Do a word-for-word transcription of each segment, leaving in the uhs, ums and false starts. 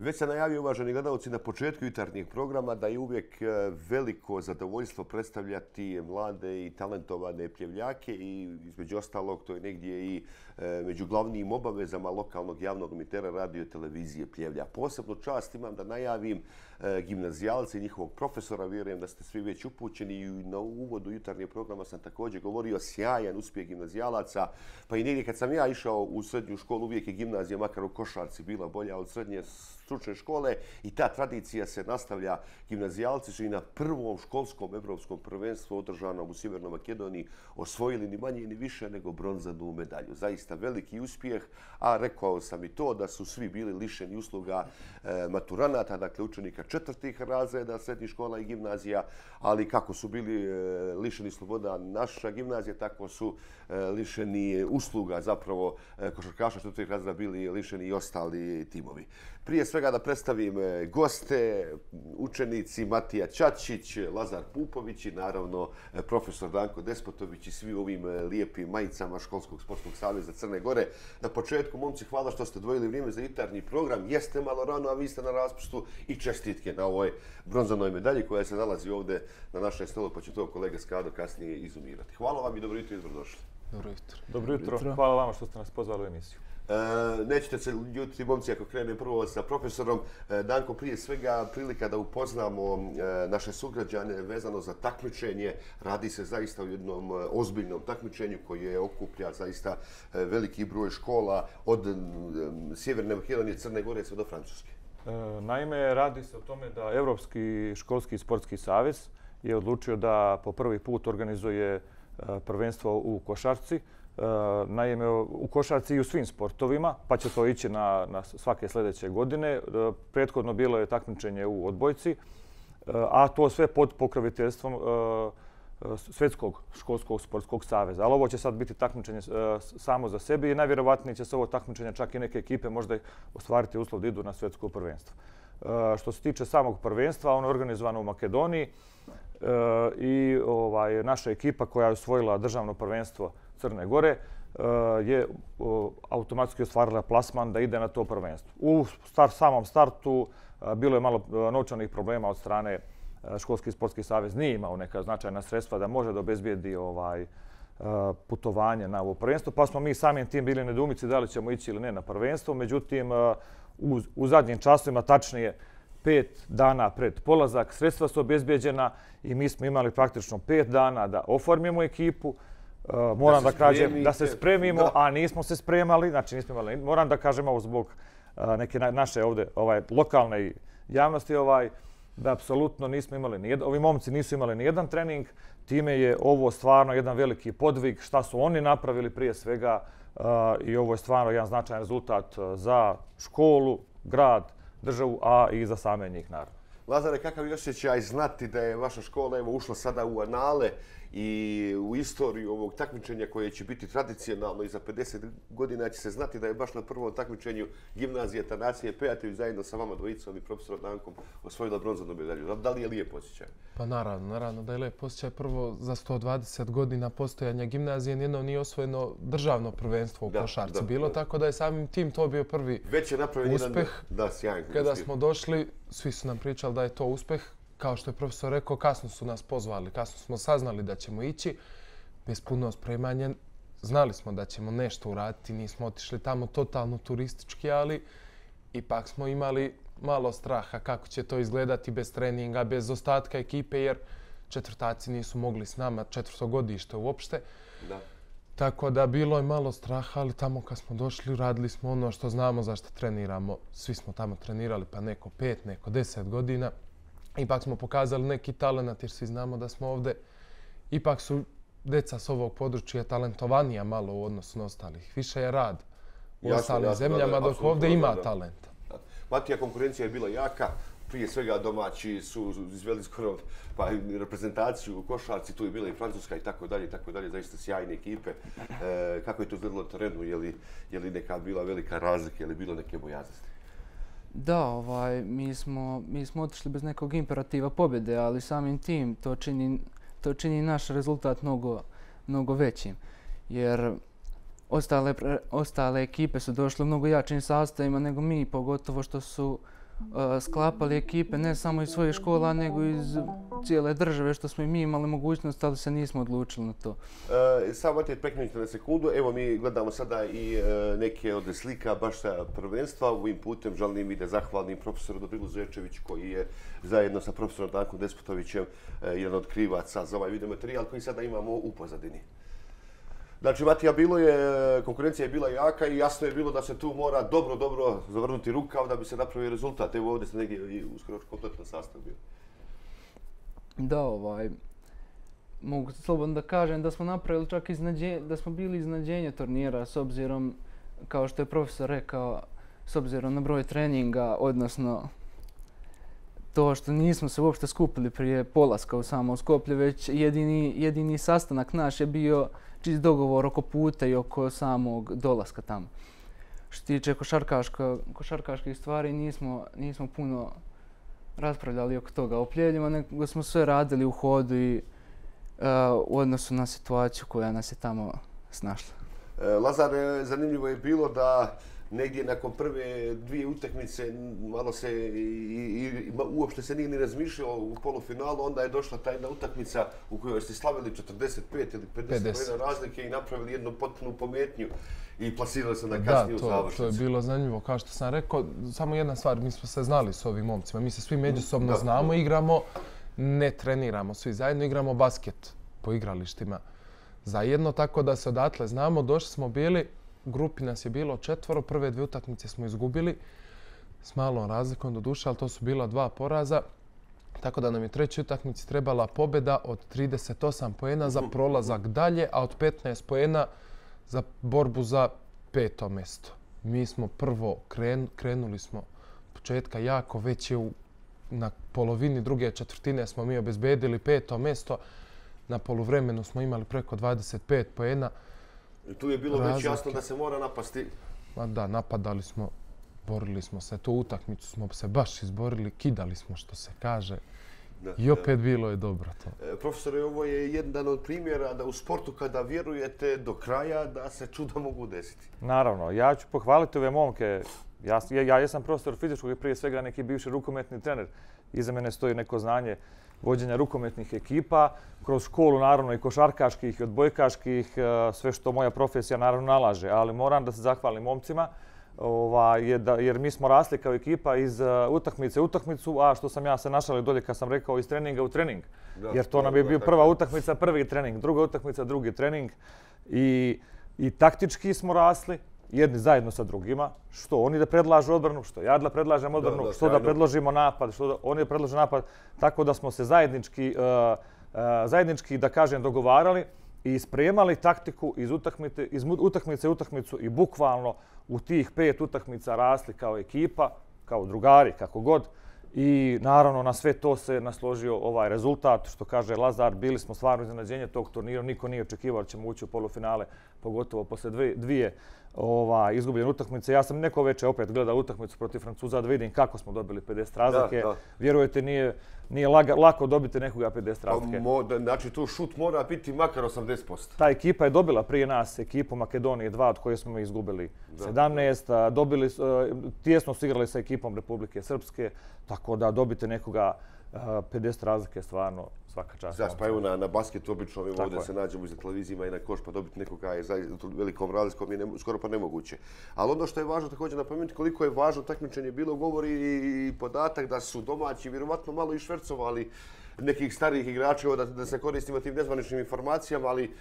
Već sam najavio, uvaženi gledalci, na početku jutarnjeg programa da je uvijek veliko zadovoljstvo predstavljati mlade i talentovane pljevljake i između ostalog to je negdje i među glavnim obavezama lokalnog javnog emitera radio televizije Pljevlja. Posebnu čast imam da najavim gimnazijalce i njihovog profesora. Vjerujem da ste svi već upućeni i na uvodu jutarnjeg programa sam također govorio sjajan uspjeh gimnazijalaca. Pa i negdje kad sam ja išao u srednju školu uvijek je gimnazija, makar u košarci, bila bolja od srednje stručne škole i ta tradicija se nastavlja. Gimnazijalci su i na prvom školskom evropskom prvenstvu održanom u Sjevernoj Makedoniji osvojili ni manje ni više nego bronzanu medalju. Zaista veliki uspjeh, a rekao sam i to da su svi bili lišeni usluga e, maturanata, dakle učenika četvrtih razreda srednjih škola i gimnazija, ali kako su bili e, lišeni sloboda naša gimnazija, tako su e, lišeni usluga zapravo e, košarkaša četvrtih razreda bili lišeni i ostali timovi. Prije svega da predstavim goste, učenici Matija Čačić, Lazar Pupović i naravno profesor Danko Despotović i svi ovim lijepim majicama Školskog sportskog saveza Crne Gore. Na početku, momci, hvala što ste odvojili vrijeme za jutarnji program. Jeste malo rano, a vi ste na raspustu i čestitke na ovoj bronzanoj medalji koja se nalazi ovdje na našem stolu, pa će to kolega Skado kasnije izumirati. Hvala vam i dobro jutro i dobrodošli. Dobro jutro. Dobro jutro. Hvala vama što ste nas pozvali u emisiju. E, nećete se ljutiti, momci, ako krenem prvo sa profesorom. E, Danko, prije svega prilika da upoznamo e, naše sugrađane vezano za takmičenje. Radi se zaista o jednom e, ozbiljnom takmičenju koje okuplja zaista e, veliki broj škola od e, Sjeverne Makedonije, Crne Gore sve do Francuske. E, naime, radi se o tome da Europski školski sportski savez je odlučio da po prvi put organizuje e, prvenstvo u košarci. Naime, u košarci i u svim sportovima, pa će to ići na, na svake sljedeće godine. Prethodno bilo je takmičenje u odbojci, a to sve pod pokroviteljstvom Svjetskog školskog sportskog saveza. Ali ovo će sad biti takmičenje samo za sebe i najvjerovatnije će se ovo takmičenje čak i neke ekipe možda ostvariti uslov da idu na svjetsko prvenstvo. Što se tiče samog prvenstva, ono je organizovano u Makedoniji i ovaj, naša ekipa koja je osvojila državno prvenstvo Crne Gore je automatski ostvarila plasman da ide na to prvenstvo. U start, samom startu bilo je malo novčanih problema od strane Školski sportski savez. Nije imao neka značajna sredstva da može da obezbijedi ovaj, putovanje na ovo prvenstvo, pa smo mi samim tim bili nedoumici da li ćemo ići ili ne na prvenstvo. Međutim, u, u zadnjim časovima, tačnije pet dana pred polazak, sredstva su obezbijeđena i mi smo imali praktično pet dana da oformimo ekipu. Uh, moram da, da kažem da se spremimo, da. a nismo se spremali, znači nismo imali. Moram da kažem ovo zbog uh, neke na, naše ovdje ovaj, lokalne javnosti, ovaj, da apsolutno nismo imali ni jedan, ovi momci nisu imali ni jedan trening. Time je ovo stvarno jedan veliki podvig šta su oni napravili prije svega uh, i ovo je stvarno jedan značajan rezultat za školu, grad, državu, a i za same njih naravno. Lazare, kakav je osjećaj znati da je vaša škola evo, ušla sada u anale i u istoriju ovog takmičenja koje će biti tradicionalno i za pedeset godina će se znati da je baš na prvom takmičenju gimnazije Tanacije Pejatović zajedno sa vama dvojicom i profesorom Dankom osvojila bronzanu medalju. Da li je lijep osjećaj? Pa naravno, naravno da je lijep osjećaj. Prvo, za sto dvadeset godina postojanja gimnazije nijedno nije osvojeno državno prvenstvo u da, košarci. Da, bilo da. Tako da je samim tim to bio prvi Već je napravljen uspeh. Jedan, da, sjajan Kada uspjeh. smo došli, svi su nam pričali da je to uspeh. Kao što je profesor rekao, kasno su nas pozvali, kasno smo saznali da ćemo ići. Bez puno spremanja znali smo da ćemo nešto uraditi, nismo otišli tamo totalno turistički, ali ipak smo imali malo straha kako će to izgledati bez treninga, bez ostatka ekipe, jer četvrtaci nisu mogli s nama, četvrtogodište uopšte. Da. Tako da bilo je malo straha, ali tamo kad smo došli radili smo ono što znamo zašto treniramo. Svi smo tamo trenirali, pa neko pet, neko deset godina. Ipak smo pokazali neki talent jer svi znamo da smo ovdje. Ipak su djeca s ovog područja talentovanija malo u odnosu na ostalih. Više je rad u jasno, ostalim jasno, zemljama, da, dok ovdje ima da. talenta. Da. Matija, konkurencija je bila jaka. Prije svega domaći su izveli skoro pa, reprezentaciju u košarci, tu je bila i Francuska i tako dalje, i tako dalje, zaista sjajne ekipe. E, kako je to izgledalo na terenu? Je li, je li neka bila velika razlika, je li bilo neke bojaznosti? Da, ovaj, mi smo, mi smo otišli bez nekog imperativa pobjede, ali samim tim to čini, to čini naš rezultat mnogo, mnogo većim. Jer ostale, ostale ekipe su došle u mnogo jačim sastavima nego mi, pogotovo što su sklapali ekipe ne samo iz svojih škola, nego iz cijele države, što smo i mi imali mogućnost, ali se nismo odlučili na to. E, samo te prekrenite na sekundu. Evo mi gledamo sada i e, neke od slika baš sa prvenstva. Ovim putem želim i da zahvalim profesoru Dobrilu Zečeviću koji je zajedno sa profesorom Dankom Despotovićem e, jedan od krivaca za ovaj video materijal koji sada imamo u pozadini. Znači, Matija, bilo je, konkurencija je bila jaka i jasno je bilo da se tu mora dobro, dobro zavrnuti rukav da bi se napravio rezultat. Evo ovdje se negdje uskoro kompletan sastav bio. Da, ovaj, mogu slobodno da kažem da smo napravili čak iznadženje, da smo bili iznadženje turnira s obzirom, kao što je profesor rekao, s obzirom na broj treninga, odnosno to što nismo se uopšte skupili prije polaska u samo Skoplje, već jedini, jedini sastanak naš je bio čist dogovor oko puta i oko samog dolaska tamo. Što se tiče košarkaških stvari, nismo, nismo puno raspravljali oko toga o pljeljima, nego smo sve radili u hodu i uh, u odnosu na situaciju koja nas je tamo snašla. Lazar, zanimljivo je bilo da negdje nakon prve dvije utakmice malo se i, i uopšte se nije ni razmišljalo u polufinalu, onda je došla ta jedna utakmica u kojoj ste slavili četrdeset pet ili pedeset razlike i napravili jednu potpunu pometnju i plasirali se na kasniju završnicu. Da, to je bilo zanimljivo. Kao što sam rekao, samo jedna stvar, mi smo se znali s ovim momcima. Mi se svi međusobno da, znamo, igramo, ne treniramo, svi zajedno igramo basket po igralištima zajedno, tako da se odatle znamo. Došli smo bili, u grupi nas je bilo četvoro, prve dvije utakmice smo izgubili s malom razlikom do duše, ali to su bila dva poraza. Tako da nam je trećoj utakmici trebala pobjeda od trideset osam poena za prolazak dalje, a od petnaest poena za borbu za peto mjesto. Mi smo prvo kren, krenuli smo početka jako, već je u, na polovini druge četvrtine smo mi obezbedili peto mjesto. Na poluvremenu smo imali preko dvadeset pet poena. I tu je bilo već jasno da se mora napasti. Ma da, napadali smo, borili smo se. Tu utakmicu smo se baš izborili, kidali smo što se kaže. Da, I opet da. Bilo je dobro to. E, profesore, ovo je jedan od primjera da u sportu kada vjerujete do kraja da se čuda mogu desiti. Naravno, ja ću pohvaliti ove momke. Ja, ja, ja jesam profesor fizičkog i prije svega neki bivši rukometni trener. Iza mene stoji neko znanje vođenja rukometnih ekipa, kroz školu naravno i košarkaških i odbojkaških, sve što moja profesija naravno nalaže, ali moram da se zahvalim momcima ova, je da, jer mi smo rasli kao ekipa iz uh, utakmice u utakmicu, a što sam ja se našalio dolje kad sam rekao iz treninga u trening. Da, jer to nam je bio prva utakmica, prvi trening, druga utakmica, drugi trening i, i taktički smo rasli. Jedni zajedno sa drugima, što oni da predlažu odbranu, što ja da predlažem odbranu, da, da, što da predložimo napad, što da oni da predlože napad. Tako da smo se zajednički, uh, uh, zajednički da kažem, dogovarali i spremali taktiku iz utakmice, iz utakmice u utakmicu i bukvalno u tih pet utakmica rasli kao ekipa, kao drugari, kako god. I naravno na sve to se nasložio ovaj rezultat, što kaže Lazar, bili smo stvarno iznenađenje tog turnira, niko nije očekivao da ćemo ući u polufinale, pogotovo posle dvije, dvije ova, izgubljene utakmice. Ja sam neko veče opet gledao utakmicu protiv Francuza da vidim kako smo dobili pedeset razlike. Da, da. Vjerujete, nije, nije laga, lako dobiti nekoga pedeset razlike. Mo, znači tu šut mora biti makar osamdeset posto. Ta ekipa je dobila prije nas ekipu Makedonije dva od koje smo izgubili da, sedamnaest. Da. Dobili, tijesno su igrali sa ekipom Republike Srpske, tako da dobite nekoga pedeset razlike stvarno svaka čast. Znači, pa evo na, na basketu obično ovdje je. Se nađemo iza televizijima i na koš pa dobiti nekoga je za velikom razlikom je ne, skoro pa nemoguće. Ali ono što je važno također napomenuti koliko je važno takmičenje bilo, govori i podatak da su domaći vjerovatno malo i švercovali nekih starijih igrača, da, da se koristimo tim nezvaničnim informacijama, ali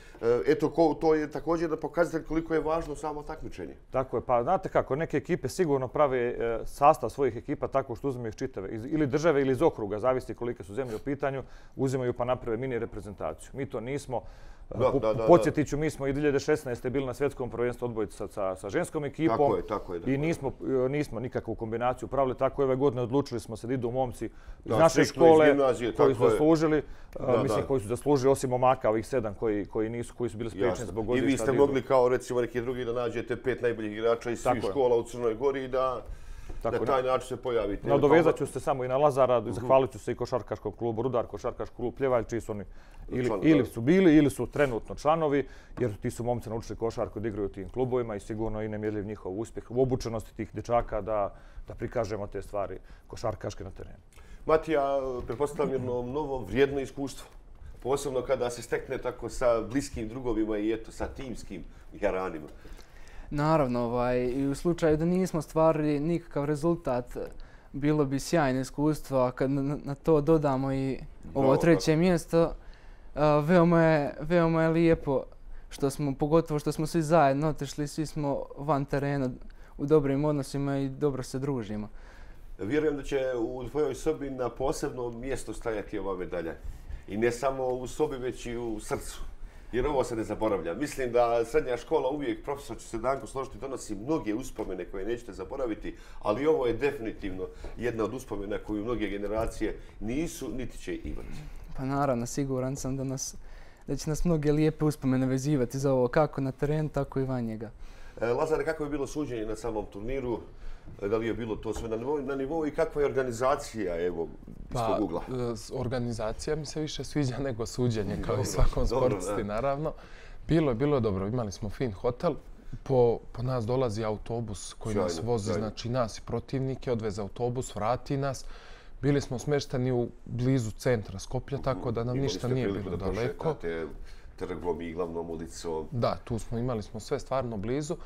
eto, ko, to je također da pokazatelj koliko je važno samo takmičenje. Tako je, pa znate kako, neke ekipe sigurno prave e, sastav svojih ekipa tako što uzimaju čitave, iz, ili države ili iz okruga, zavisi kolike su zemlje u pitanju, uzimaju pa naprave mini reprezentaciju. Mi to nismo. Da, da, da, podsjetit ću, mi smo i dvije hiljade šesnaeste bili na svjetskom prvenstvu odbojica sa, sa ženskom ekipom. Tako je, tako je. Tako I nismo, nismo nikakvu kombinaciju pravili. Tako ove godine odlučili smo se da idu momci iz da, naše škole iz gimnazije, koji su zaslužili. Da, mislim, da. koji su zaslužili osim momaka, ovih sedam koji, koji nisu, koji su bili spriječeni zbog godišta. I vi ste mogli kao recimo neki drugi da nađete pet najboljih igrača iz svih škola u Crnoj Gori i da... tako. Na taj način se pojavite. Nadovezat ću se samo i na Lazara, zahvalit ću se i košarkaškom klubu Rudar, košarkaški klub Pljevalj, čiji su oni ili, ili su bili ili su trenutno članovi, jer ti su momci naučili košarku da igraju u tim klubovima i sigurno i nemjerljiv njihov uspjeh u obučenosti tih dječaka da, da prikažemo te stvari košarkaške na terenu. Matija, pretpostavljam jedno novo vrijedno iskustvo. Posebno kada se stekne tako sa bliskim drugovima i eto sa timskim jaranima. Naravno, ovaj, i u slučaju da nismo stvarili nikakav rezultat, bilo bi sjajno iskustvo, a kad na, na to dodamo i ovo Bravo, treće tako. mjesto, a, veoma, je, veoma je lijepo, što smo, pogotovo što smo svi zajedno otišli, svi smo van terena u dobrim odnosima i dobro se družimo. Vjerujem da će u tvojoj sobi na posebno mjesto stajati ova medalja. I ne samo u sobi, već i u srcu. Jer ovo se ne zaboravlja. Mislim da srednja škola uvijek, profesor će se Danko složiti, donosi mnoge uspomene koje nećete zaboraviti, ali ovo je definitivno jedna od uspomena koju mnoge generacije nisu niti će imati. Pa naravno, siguran sam da, nas, da će nas mnoge lijepe uspomene vezivati za ovo, kako na terenu, tako i van njega. E, Lazare, kako je bilo suđenje na samom turniru? Da li je bilo to sve na nivou, na nivou i kakva je organizacija, evo, iz Pa, tog ugla? e, organizacija mi se više sviđa nego suđenje, kao Dobro, i svakom dobro, sportisti, da. naravno. Bilo je, bilo je dobro. Imali smo fin hotel. Po, po nas dolazi autobus koji nas Sjajno, vozi, sjajno. znači nas i protivnike, odveze autobus, vrati nas. Bili smo smješteni u blizu centra Skoplja, tako da nam Imali ništa ste nije priliku bilo da daleko. prošetate trgom i glavnom ulicom. Da, tu smo imali smo sve stvarno blizu.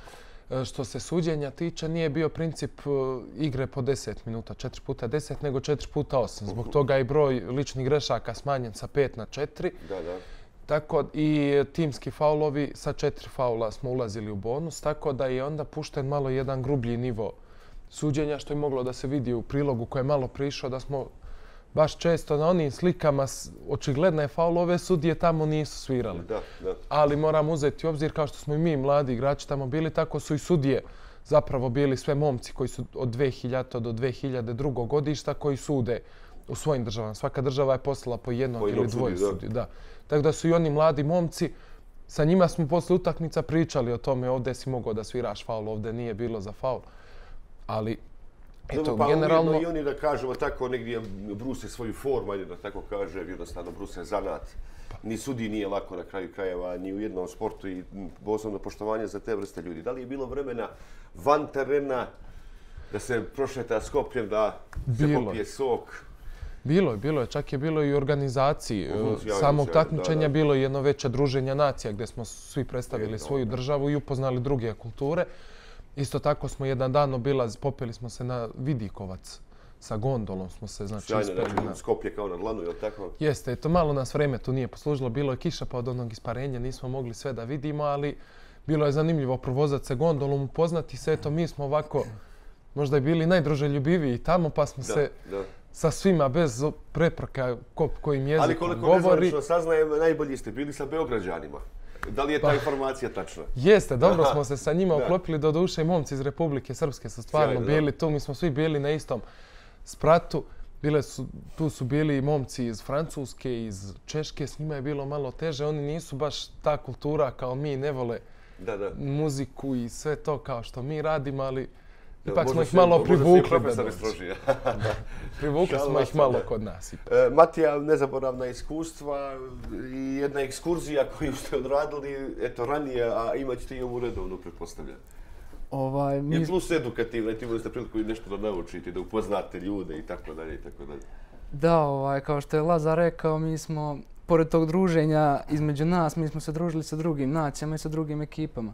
E, Što se suđenja tiče, nije bio princip e, igre po deset minuta, četiri puta deset, nego četiri puta osam. Zbog toga je i broj ličnih grešaka smanjen sa pet na četiri. Da, da. Tako i timski faulovi, sa četiri faula smo ulazili u bonus, tako da je onda pušten malo jedan grublji nivo suđenja, što je moglo da se vidi u prilogu koje je malo prišao, da smo baš često na onim slikama s- očigledne faulove sudije tamo nisu svirali. Da, da. Ali moram uzeti u obzir, kao što smo i mi mladi igrači tamo bili, tako su i sudije zapravo bili sve momci koji su od dve hiljadite do dve hiljade drugo godišta koji sude u svojim državama. Svaka država je poslala po jednog Po jednog ili dvoje sudiju, da. sudiju. Da. Tako da su i oni mladi momci, sa njima smo posle utakmica pričali o tome, ovdje si mogao da sviraš faul, ovdje nije bilo za faul. Ali, eto, Dobro, pa generalno... ujedno i oni da kažemo tako negdje bruse svoju formu, ajde da tako kaže, jednostavno bruse zanat. Ni sudi nije lako na kraju krajeva, ni u jednom sportu i posebno poštovanje za te vrste ljudi. Da li je bilo vremena van terena da se prošeta Skopljem, da se Bilo. popije sok? Bilo je, bilo je, čak je bilo i u organizaciji Mhm, e, sjajno, samog sjajno, takmičenja, da, da. bilo je jedno veće druženje nacija gdje smo svi predstavili Jedno, svoju da. državu i upoznali druge kulture. Isto tako smo jedan dan obilaz, popeli smo se na Vidikovac sa gondolom, smo se znači Sjajno, ispeli znači na... Skoplje kao na dlanu, je li tako? Jeste, eto malo nas vreme tu nije poslužilo, bilo je kiša pa od onog isparenja nismo mogli sve da vidimo, ali bilo je zanimljivo provozati se gondolom, upoznati se, eto mi smo ovako možda i bili najdruželjubiviji tamo, pa smo Da, se da. sa svima bez prepreka ko, kojim Ali jezikom koliko govori. nezvanično saznajem, najbolji ste bili sa Beograđanima. Da li je ta Pa- informacija tačna? Jeste, dobro Aha. smo se sa njima Da. uklopili, do duše i momci iz Republike Srpske su stvarno Sjajno, da. bili tu, mi smo svi bili na istom spratu. Bile su, tu su bili i momci iz Francuske, iz Češke, s njima je bilo malo teže, oni nisu baš ta kultura kao mi, ne vole Da, da. muziku i sve to kao što mi radimo, ali Da, ipak možda smo ih su- malo možda su i privukli da profesori dođu. strožiji. Privukli Šalila smo ih sam, malo da. kod nas ipak. E, Matija, nezaboravna iskustva i jedna ekskurzija koju ste odradili eto, ranije, a imat ćete i ovu redovnu, pretpostavljam. Ovaj, mi, I plus edukativna, i imali ste priliku i nešto da naučite, da upoznate ljude i tako dalje i tako dalje. da, ovaj, kao što je Lazar rekao, mi smo, pored tog druženja između nas, mi smo se družili sa drugim nacijama i sa drugim ekipama.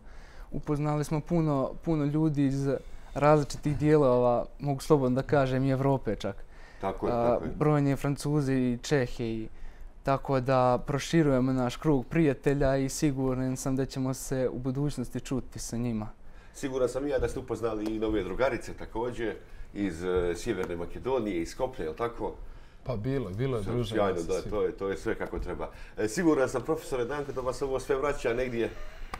Upoznali smo puno, puno ljudi iz različitih dijelova, mogu slobodno da kažem, i Evrope čak. Tako je, A, tako je. brojni Francuzi i Čehi. I, tako da proširujemo naš krug prijatelja i siguran sam da ćemo se u budućnosti čuti sa njima. Siguran sam i ja da ste upoznali i nove drugarice također iz e, Sjeverne Makedonije, iz Skoplja, je li tako? Pa bilo je, bilo je druženje. Sjajno, sa da, svima. to je, to je sve kako treba. E, siguran sam, profesore Danko, da vas ovo sve vraća negdje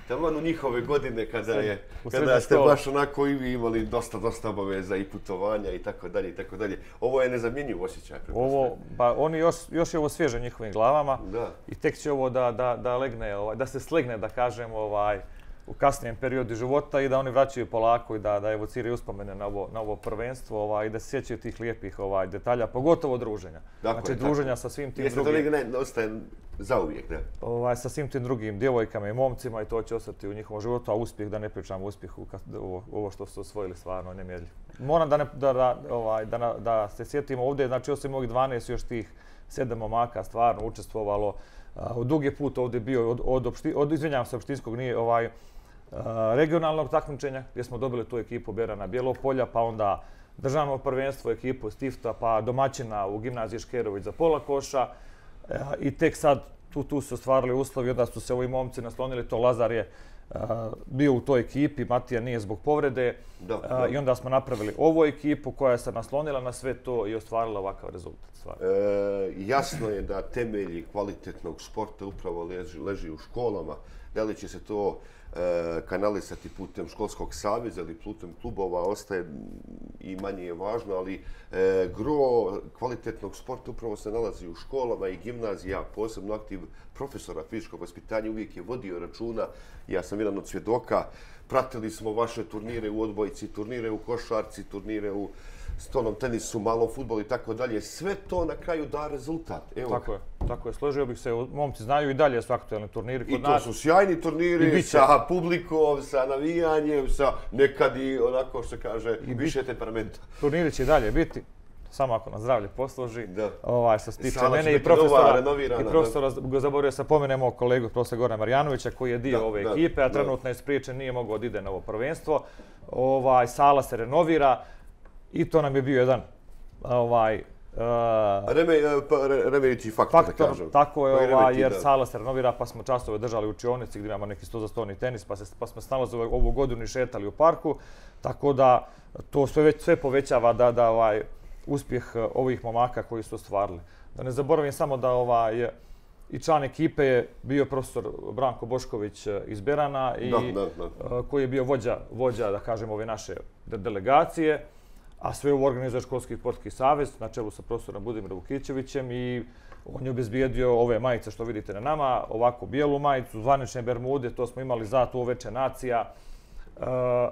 taman u njihove godine kada, je, u kada srednju ste školu. baš onako i vi imali dosta, dosta obaveza i putovanja i tako dalje i tako dalje. Ovo je nezamjenjiv osjećaj, pretpostavljam. Ovo, pa oni još, još je ovo svježe njihovim glavama Da. i tek će ovo da, da, da legne, ovaj, da se slegne, da kažem, ovaj, u kasnijem periodu života i da oni vraćaju polako i da, da evociraju uspomene na ovo, na ovo prvenstvo ovaj, i da se sjećaju tih lijepih ovaj, detalja, pogotovo druženja. Dakle, znači druženja sa svim tim Jeste drugim... Jeste to ne ostaje zauvijek, ne? Ovaj, sa svim tim drugim djevojkama i momcima i to će ostati u njihovom životu, a uspjeh, da ne pričam o uspjehu, ovo, ovo što su osvojili stvarno nemjerljivo. Moram da, ne, da, da, ovaj, da, da se sjetimo ovdje, znači osim ovih dvanaest još tih sedam momaka stvarno učestvovalo. Od dug je put ovdje bio od, od, opšti, od izvinjavam se, opštinskog nije ovaj, regionalnog takmičenja gdje smo dobili tu ekipu Berana Bjelopolja, pa onda državno prvenstvo, ekipu Stifta, pa domaćina u gimnaziji Škerović za pola koša. I tek sad tu, tu su ostvarili uslovi, onda su se ovi momci naslonili, to Lazar je uh, bio u toj ekipi, Matija nije zbog povrede. Da, da. Uh, I onda smo napravili ovu ekipu koja se naslonila na sve to i ostvarila ovakav rezultat. E, jasno je da temelji kvalitetnog sporta upravo leži, leži u školama. Da li će se to e, kanalisati putem školskog saveza ili putem klubova ostaje i manje je važno, ali e, gro kvalitetnog sporta upravo se nalazi u školama i gimnazija, posebno aktiv profesora fizičkog vaspitanja uvijek je vodio računa. Ja sam jedan od svjedoka, pratili smo vaše turnire u odbojci, turnire u košarci, turnire u stolnom tenisu, malom fudbalu i tako dalje. Sve to na kraju da rezultat. Evo. Tako je, tako je. Složio bih se, momci znaju i dalje su aktualni turniri kod I to nas. su sjajni turniri sa publikom, sa navijanjem, sa nekad i onako što se kaže I više temperamenta. Turniri će i dalje biti, samo ako nas zdravlje posluži. Da. Ovaj, što se tiče Sala mene će i profesora, nova, i profesora da. Zaboravio sa pomenemo kolegu profesora Gorana Marjanovića koji je dio da, ove da, ekipe, a trenutno da. je spriječen, nije mogao da ide na ovo prvenstvo. Ovaj, sala se renovira i to nam je bio jedan ovaj, Uh, Reme, pa, remedići faktor, faktor, da kažem. tako je, Koji ova, remeti, jer da. sala se renovira, pa smo časove držali u učionici gdje imamo neki sto za stoni tenis, pa, se, pa smo stalno za ovu godinu i šetali u parku, tako da to sve, već, sve povećava da, da ovaj, uspjeh ovih momaka koji su ostvarili. Da ne zaboravim samo da ovaj, i član ekipe je bio profesor Branko Bošković iz Berana i da, da, da. koji je bio vođa, vođa da kažem, ove naše delegacije. A sve ovo organizuje Školski sportski savez na čelu sa profesorom Budimirom Vukićevićem i on je obezbijedio ove majice što vidite na nama, ovako bijelu majicu, zvanične bermude, to smo imali za tu Veče nacija, e,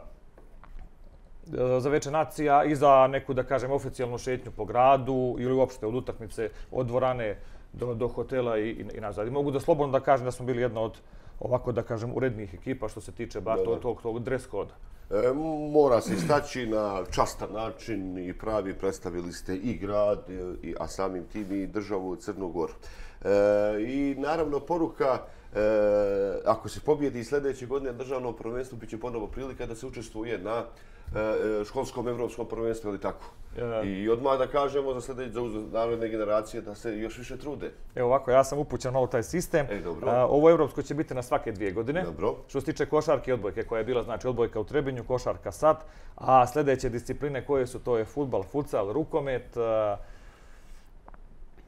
za Veče nacija i za neku, da kažem, oficijalnu šetnju po gradu ili uopšte od utakmice od dvorane do, do hotela i, i, i nazad. I mogu da slobodno da kažem da smo bili jedna od ovako, da kažem, urednijih ekipa što se tiče bar tog, tog, tog dress koda. E, mora se istaći na častan način i pravi predstavili ste i grad, i, a samim tim i državu Crnu Goru. E, I naravno poruka, e, ako se pobjedi sljedeće godine državno prvenstvo, bit će ponovo prilika da se učestvuje na e, školskom evropskom prvenstvu, ili tako? E, I odmah da kažemo za sljedeće, za naredne generacije da se još više trude. Evo ovako, ja sam upućen na taj sistem. E, dobro. A, ovo evropsko će biti na svake dvije godine. Dobro. Što se tiče košarke i odbojke, koja je bila znači odbojka u Trebinju, košarka sad, a sljedeće discipline koje su, to je fudbal, futsal, rukomet, a,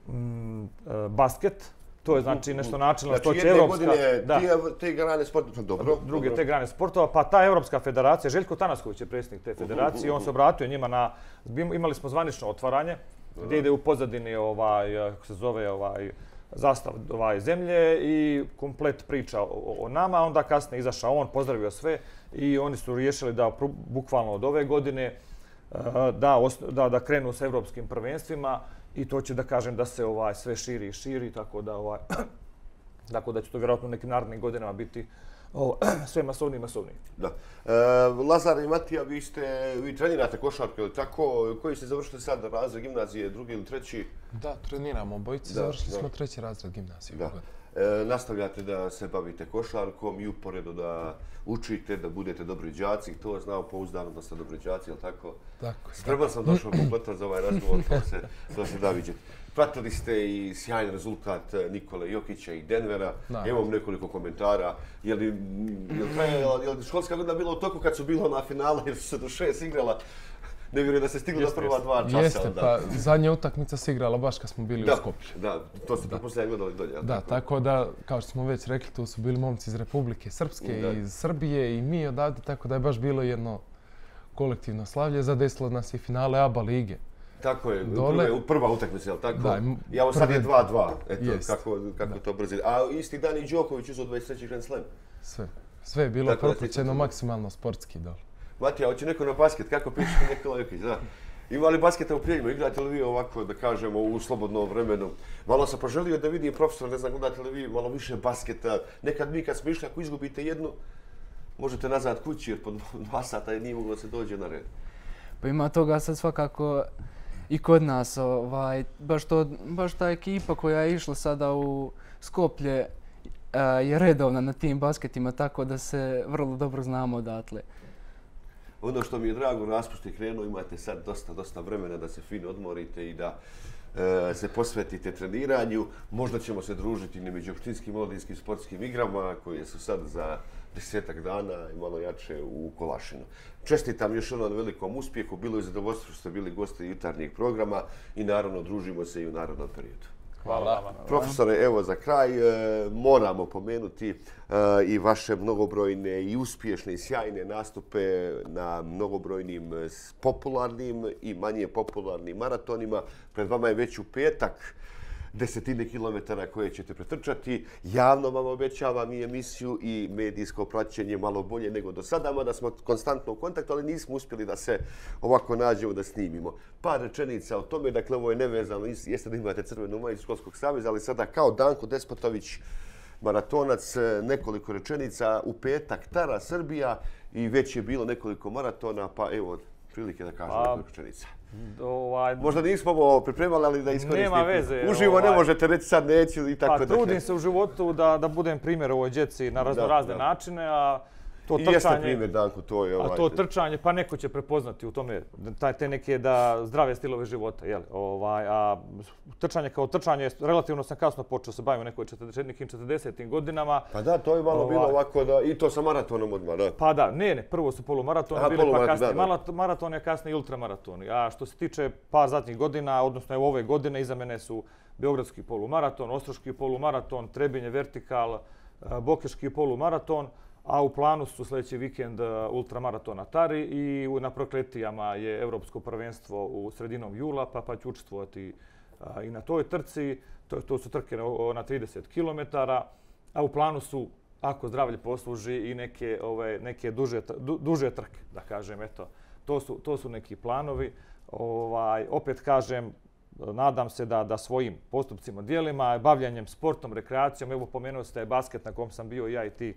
m, a, basket. To je znači nešto načelno, znači, to će evropska... Znači jedne da. godine te grane sportova, dobro. Druge dobro. te grane sportova, pa ta Evropska federacija, Željko Tanasković je predsjednik te federacije, on se obratio njima na... Imali smo zvanično otvaranje, gdje ide u pozadini ovaj, kako se zove, ovaj, zastav ovaj, zemlje i komplet priča o, o nama. Onda kasnije izašao on, pozdravio sve i oni su riješili da bukvalno od ove godine da, da, da krenu sa evropskim prvenstvima i to će da kažem da se ovaj, sve širi i širi, tako da, ovaj, tako da će to vjerojatno u nekim narednim godinama biti o, sve masovniji i masovniji. Da. E, Lazar i Matija, vi, ste, vi trenirate košarku, ili tako? Koji ste završili sad razred gimnazije, drugi ili treći? Da, treniramo obojice, završili da. smo treći razred gimnazije. Da. E, nastavljate da se bavite košarkom i uporedo da učite, da budete dobri đaci. To znao pouzdano da ste dobri đaci, jel tako? Tako. Spreman sam došao kompletan za ovaj razgovor, to se, to se da vidjeti. Pratili ste i sjajan rezultat Nikole Jokića i Denvera. Da. Imam nekoliko komentara. Je li, je li školska godina bila u toku kad su bilo na finala jer su se do šest igrala? Ne vjerujem da se stiglo do prva dva časa. Jeste, pa zadnja utakmica se igrala baš kad smo bili da, u Skoplju. Da, to se pretpostavljam gledali dolje. Da, tako? tako da, kao što smo već rekli, tu su bili momci iz Republike Srpske, da. iz Srbije i mi odavde, tako da je baš bilo jedno kolektivno slavlje. Zadesilo nas i finale A B A lige. Tako je, Dole, prva utakmica, jel tako? Da, ja ovo sad je dva dva, eto, jest. kako, kako to brzi. A isti dan i Đoković uzeo dvadeset treći Grand Slam. Sve. Sve je bilo propraćeno maksimalno sportski dole. Matija, hoće neko na basket, kako piše Nikola Jokić, da. Ima li basketa u Prijeljima? Igrate li vi ovako, da kažemo, u slobodnom vremenu? Malo sam poželio da vidim profesor, ne znam, gledate li vi malo više basketa. Nekad mi kad smo išli, ako izgubite jednu, možete nazad kući jer po dva sata nije moglo da se dođe na red. Pa ima toga sad svakako i kod nas. Ovaj, baš, to, baš ta ekipa koja je išla sada u Skoplje a, je redovna na tim basketima, tako da se vrlo dobro znamo odatle. Ono što mi je drago, raspust je krenuo, imate sad dosta, dosta vremena da se fino odmorite i da e, se posvetite treniranju. Možda ćemo se družiti na međuopštinskim omladinskim sportskim igrama koje su sad za desetak dana i malo jače u Kolašinu. Čestitam još ono na velikom uspjehu, bilo je zadovoljstvo što ste bili gosti jutarnjeg programa i naravno družimo se i u narednom periodu. Hvala vam. Profesore, evo za kraj e, moramo pomenuti e, i vaše mnogobrojne i uspješne i sjajne nastupe na mnogobrojnim popularnim i manje popularnim maratonima. Pred vama je već u petak desetine kilometara koje ćete pretrčati. Javno vam obećavam i emisiju i medijsko praćenje malo bolje nego do sada, mada smo konstantno u kontaktu, ali nismo uspjeli da se ovako nađemo da snimimo. Par rečenica o tome, dakle ovo je nevezano, jeste da imate crvenu majicu Školskog saveza, ali sada kao Danko Despotović, maratonac, nekoliko rečenica, u petak Tara Srbija i već je bilo nekoliko maratona, pa evo prilike da kažem nekoliko rečenica. Ovaj, Možda nismo ovo pripremali, ali da iskoristite. Nema veze. Uživo ovaj, ne možete reći sad neću i tako pa, da. Trudim se u životu da, da budem primjer ovoj djeci na razno razne da, da. načine, a to I trčanje... jeste primjer, Danko, to je ovaj... A to trčanje, pa neko će prepoznati u tome taj, te neke da zdrave stilove života, jel? Ovaj, a trčanje kao trčanje, relativno sam kasno počeo se baviti u nekoj nekim četrdesetim godinama. Pa da, to je malo ovaj, bilo ovako da, i to sa maratonom odmah, da. Pa da, ne, ne, prvo su polumaratoni Aha, bili, polumaraton, pa kasnije da, da. maraton, a kasnije i ultramaratoni. A što se tiče par zadnjih godina, odnosno evo ove godine, iza mene su Beogradski polumaraton, Ostroški polumaraton, Trebinje vertikal, Bokeški polumaraton, a u planu su sljedeći vikend ultramaraton na Tari i na Prokletijama je Evropsko prvenstvo u sredinom jula, pa, pa ću učestvovati i na toj trci. To, to su trke na trideset kilometara, a u planu su, ako zdravlje posluži, i neke, ove, neke duže, du, duže trke, da kažem. Eto, to, su, to su neki planovi. Ovaj, opet kažem, nadam se da, da svojim postupcima, dijelima, bavljanjem sportom, rekreacijom, evo pomenuo ste basket na kom sam bio ja i ti,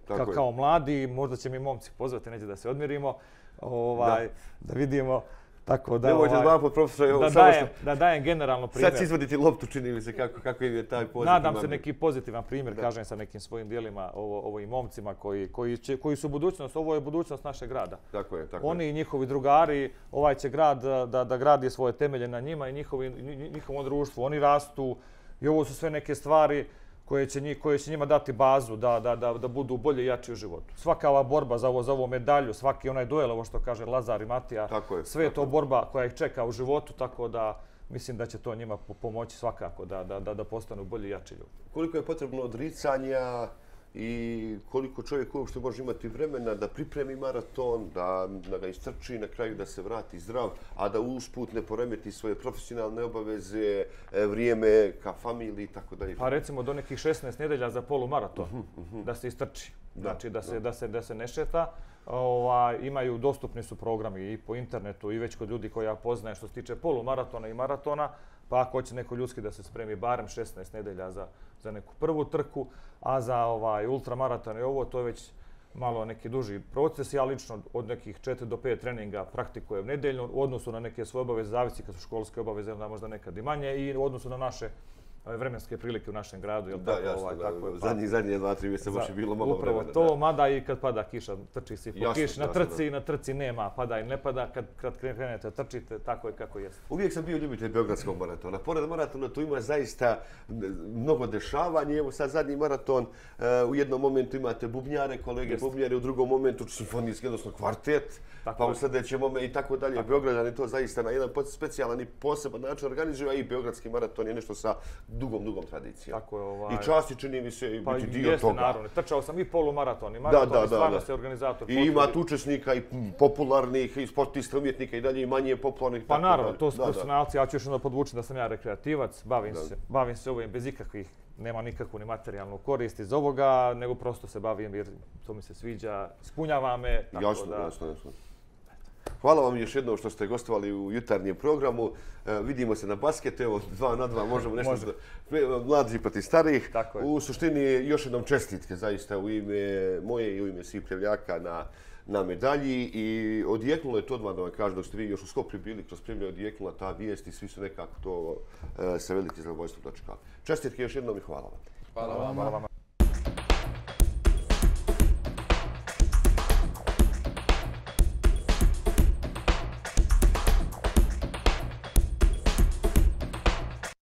Ka, kao mladi, možda će mi momci pozvati neđe da se odmjerimo, ovaj, da. da vidimo. Tako da, Nemojte ovaj, dva put, profesor, da, dajem, što... da dajem generalno primjer. Sad će izvoditi loptu, čini mi se kako, kako im je taj pozitivan. Nadam se neki pozitivan primjer, da. kažem sa nekim svojim dijelima, ovo, ovim momcima koji, koji, će, koji su budućnost, ovo je budućnost našeg grada. Tako je, tako Oni je. i njihovi drugari, ovaj će grad da, da gradi svoje temelje na njima i njihovi, njihovom društvu. Oni rastu i ovo su sve neke stvari koje će, njih, koje će njima dati bazu da, da, da, da budu bolje i jači u životu. Svaka ova borba za ovo, za ovu medalju, svaki onaj duel, ovo što kaže Lazar i Matija, je, sve je to borba koja ih čeka u životu, tako da mislim da će to njima pomoći svakako da, da, da, da postanu bolji i jači ljudi. Koliko je potrebno odricanja i koliko čovjek uopšte može imati vremena da pripremi maraton, da, da ga istrči na kraju, da se vrati zdrav, a da usput ne poremeti svoje profesionalne obaveze, vrijeme ka familiji i tako dalje. Pa recimo do nekih šesnaest nedelja za polumaraton uh -huh, uh -huh. da se istrči, znači da, da, se, da. Da, se, da se ne šeta. Ovaj, imaju, dostupni su programi i po internetu i već kod ljudi koji ja poznajem što se tiče polumaratona i maratona, pa ako hoće neko ljudski da se spremi barem šesnaest nedelja za, za neku prvu trku, a za ovaj ultramaraton i ovo, to je već malo neki duži proces. Ja lično od nekih četiri do pet treninga praktikujem nedeljno u odnosu na neke svoje obaveze, zavisi kad su školske obaveze, onda možda nekad i manje, i u odnosu na naše vremenske prilike u našem gradu. Jel da, tako, jasno, ovaj, da. tako je, pa, zadnji, zadnje dva, tri mjeseca baš je bilo malo upravo vremena. Upravo to, da. mada i kad pada kiša, trči se po jasno, kiši. Na jasno, trci, da. na trci nema, pada i ne pada, kad, kad krenete trčite, tako je kako jeste. Uvijek sam bio ljubitelj Beogradskog maratona. Pored maratona tu ima zaista mnogo dešavanja. Evo sad zadnji maraton, uh, u jednom momentu imate bubnjare, kolege Jest. bubnjare, u drugom momentu simfonijski, odnosno kvartet, tako pa u sljedećem momentu i tako dalje. Tako. Beograđani to zaista na jedan specijalan i poseban način organizuju, a i Beogradski maraton je nešto sa dugom, dugom tradicijom. Tako je, ovaj... I časti čini mi se Pa biti dio jeste, toga. naravno. Trčao sam i polumaraton i Da, maraton da, i da, stvarno da. se organizator I potrudi. ima tu učesnika i popularnih, i sportista, umjetnika i dalje, i manje popularnih. Pa tako naravno, dalje. to su Da, da. profesionalci. Ja ću još onda podvući da sam ja rekreativac. Bavim Da. se, bavim se ovim bez ikakvih, nema nikakvu ni materijalnu korist iz ovoga, nego prosto se bavim jer to mi se sviđa, ispunjava me. Tako Jasno, da... jasno, jasno. Hvala vam još jednom što ste gostovali u jutarnjem programu. E, vidimo se na basketu, evo dva na dva možemo nešto Može. za mlađi protiv starih. Tako je. U suštini još jednom čestitke zaista u ime moje i u ime svih Pljevljaka na, na medalji i odjeknulo je to odmah da vam kažem dok ste vi još u Skoplju bili kroz Primlje odjeknula ta vijest i svi su nekako to e, sa velikim zadovoljstvom dočekali. Čestitke još jednom i hvala vam. Hvala Hvala vam. vama. Hvala vama.